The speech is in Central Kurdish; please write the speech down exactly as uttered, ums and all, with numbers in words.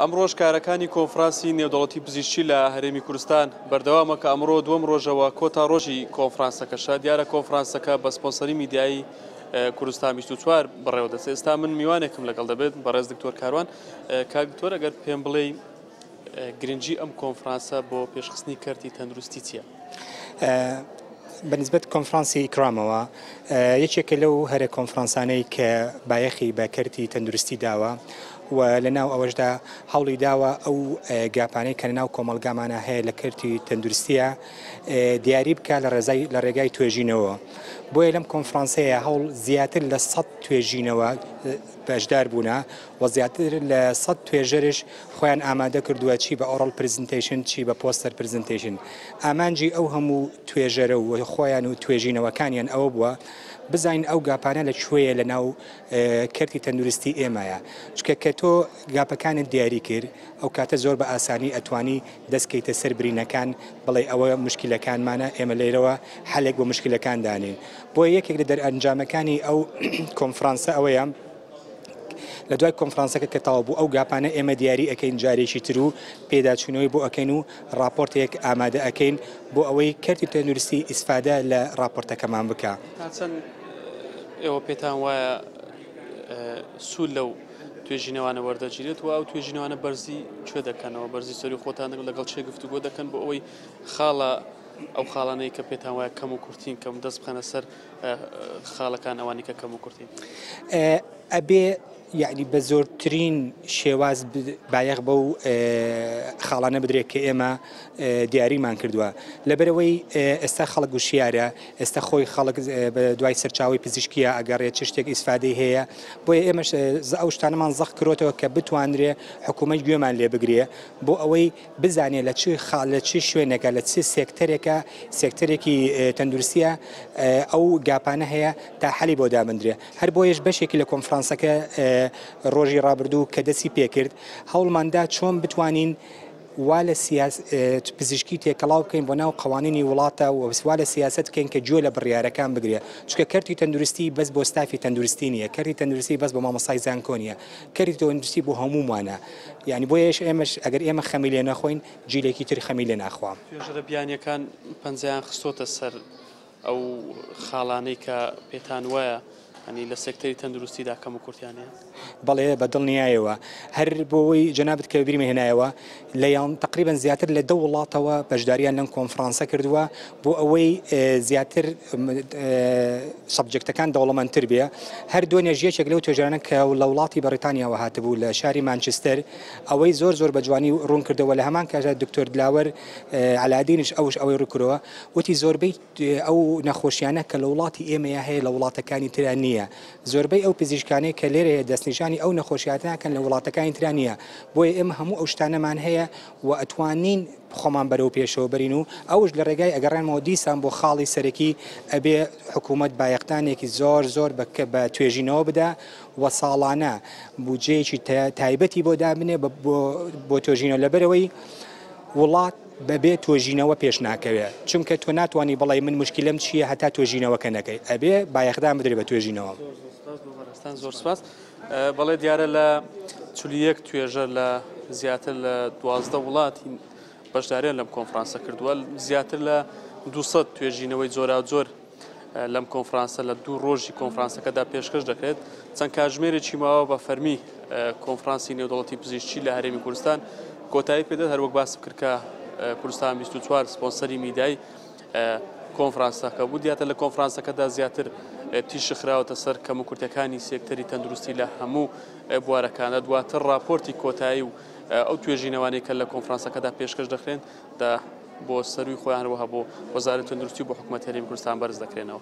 ئەمڕۆژ کارەکانی کۆنفرانسی نێودەوڵەتی پزیشکی لە هەرێمی کوردستان بەردەوامە کە ئەمڕۆ دووەم ڕۆژەوە کۆتا ڕۆژی کۆنفرانسەکەشە. دیارە کۆنفرانسەکە بە سپۆنسەری میدیایی کوردستان بیست و چوار بەڕێوە دەچێت. ئێستا من میوانێکم لەگەڵ دەبێت، بەڕێز دکتۆر کاروان. کاک دکتۆر، ئەگەر پێم بڵێی گرنگی ئەم کۆنفرانسە بۆ پێشخستنی کەرتی تەندروستی چییە؟ بەنسبەت کۆنفرانسی ئیکرامەوە یەکێکە لەو هەرە کۆنفرانسانەی کە بایەخی بە کەرتی تەندروستی داوە و لەناو ئەوەشدا هەوڵی داوە ئەو gap انەی کە لەناو کۆمەلگامانە هەیە لە کەرتی تەندروستیە دیاری بکە لە ڕێگای توێژینەوە. بۆیە لەم کۆنفرانسەیە هەوڵ زیاتر لە سەد توێژینەوە بەشدار بوونە و زیاتر لە سەد توێژەرش خۆیان ئامادە کردووە، چی بە oral presentation چی بە poster presentation. ئامانجی ئەو هەموو توێژەرە و خۆیان و توێژینەوەکانیان ئەوە بووە بزانین ئەو gap انە لە کوێیە لە ناو کەرتی تەندروستی ئێمەیە. چونکە کە تۆ gap ەکانت دیاری کرد ئەو کاتە زۆر بە ئاسانی ئەتوانی دەستکەیتە سەر برینەکان، بڵێ ئەوە مشکلەکانمانە، ئێمە لێرەوە حەلێک بۆ مشکلەکان دانین. بۆیە یەکێک لە دەرئەنجامەکانی ئەو کۆنفرانسە ئەوەیە لە دوای کۆنفرانسەکە کە تەواو بوو ئەو gap انە ئێمە دیاری ئەەکەین جارێکی تر و پێداچوونەوەی بۆ ئەەکەین و راپۆرتێک ئامادە ئەەکەین بۆ ئەوەی کەرتی تەندروستی ئیسفادە لە راپۆرتەکەمان بکە. تا چەند ئێوە پێتان وایە سوود لەو توێژینەوانە وەردەگیرێت و ئەو توێژینەوانە بەرزی کوێ دەکەنەوە، بەرزی سەری خۆتان لەگەڵ چێ گفتوگۆ دەکەن بۆ ئەوەی خاڵە ئەو خاڵانەی کە پێتان وایە کەم و کورتین کەم دەست بخەنە سەر خاڵەکان ئەوانی کە کەم و کورتین؟ ئەبێ یعنی بە زۆرترین شێواز بایەخ بەو خاڵانە بدرێت کە ئێمە دیاریمان کردووە. لەبەرەوەی ئێستا خەڵک وشیارە، ئێستا خۆی خەڵک بە دوای سەرچاوی پزیشکیە ئەگەڕێت چ شتێک ئیسفادەی هەیە. بۆیە ئێمەش ئەو شتانەمان زەق کرۆتەوە کە بتوانرێ حکوومەت گوێمان لێ بگرێ بۆ ئەوەی بزانێت لە چ خاڵ لە چ شوێنێکە لە چ سێکتەرێکە سێکتەرێکی تەندروستیە ئەو gap انە هەیە تا حەلی بۆ دابندرێ. هەر بۆیەش بەشێکی لە کۆنفرانسەکە ڕۆژی ڕابردوو کە دەستی پێکرد هەوڵماندا چۆن بتوانین وا لە پزیشکی تێکەڵاو بکەین بۆ ناو قوانینی وڵاتە و وا لە سیاست بکەین کە گوێ لە بڕیارەکان بگرێ. چونکە کەرتی تەندروستی بەس بۆ ستافی تەندروستی نییە، کەرتی تەندروستی بەس بۆ مامۆستای زانکۆ نییە، کەرتی تەندروستی بۆ هەموومانە. یعنی بۆیەش ئێمەش ئەگەر ئێمە خەمی لێ نەخۆین جیلێکی تر خەمی لێ ناخوا. توێژەرە بیانیەکان پەنجەیان خستۆتە سەر ئەو خاڵانەی کە پێتان وایە ینی لە سێکتەری تەندروستیدا کەم و کورتیان هەیە؟ بەڵێ بە دڵنیایەوە. هەر بۆەوەی جەنابت کە بیرمە هێنایەوە لەیان تقریبا زیاتر لە دە وڵاتەوە بەشداریان لەم کۆنفرانسە کردووە بۆ ئەوەی زیاتر subject ەکان دەوڵەمەندتر بێ. هەر دوێنێژ یەکێک لەو توێژەرانە کە لە وڵاتی بەریتانیاوە هاتبوو لە شاری مانچستەر ئەوەی زۆر زۆر بە جوانی ڕوون کردەوە. لە هەمان کاتدا دکتۆر دلاوەر عەلادینش ئەوش ئەوەی ڕوون کردەوە، وتی زۆربەی ئەو نەخۆشیانە کە لە وڵاتی ئێمەیە هەیە لە وڵاتەکانی ترا نییە. زۆربەی ئەو پزیشکانەی کە لێرە هەیە دەستنیشانی ئەو نەخۆشیاتناکەن لە وڵاتەکانی ترا نییە. بۆیە ئێمە هەموو ئەو شتانەمان هەیە و ئەتوانین خۆمان بەرەو پێشەوە بەرین و ئەوش لە ڕێگای ئەگەڕێنمەوە دیسان بۆ خاڵی سەرەکی ئەبێ حکوومەت بایەختانێکی زۆر زۆر بە توێژینەوە بدا و ساڵانە بودجەیەکی تایبەتی بۆ دابنێ بۆ توێژینەوە. لەبەرەوەی وڵات بەبێ توێژینەوە پێش ناکەوێت، چونکە تۆ ناتوانانی بڵێ من مشکلم چییە هەتا توێژینەوەکە نەکەی، ئەبێ بایەخدان بدرێ بە توێژینەوە. زۆر سپاس. بەڵێ دیارە لە چل و یەک توێژەر لە زیاتر لە دوازدە وڵاتی بەشداریان لەم کۆنفرانسە کردووە. زیاتر لە دووسەد توێژینەوەی جۆراوجۆر لەم کۆنفرانسە لە دوو ڕۆژی کۆنفرانسەکەدا پێشکەش دەکرێت. چەند کاتژمێرێکی ماوە بە فەرمی کۆنفرانسی نێودەوڵەتی پزیشکی لە هەرێمی کوردستان کۆتایی پێدێت. هەروەک باس کرد کە کوردستان بیست و چوار سپۆنسەری میدیای کۆنفرانسەکە بوو. دیاتە لە کۆنفرانسەکەدا زیاتر تیشک خراوەتە سەر کەم و کورتەکانی سێکتەری تەندروستی لە هەموو بوارەکانە. دواتر راپۆرتی کۆتایی و ئەو توێژینەوانەی کە لە کۆنفرانسەکەدا پێشکەش دەکرێن دا بۆ سەروی خۆیان هەروەها بۆ وەزارەتی تەندروستی و بۆ حکوومەت هەرێمی کوردستان بەرز دەکرێنەوە.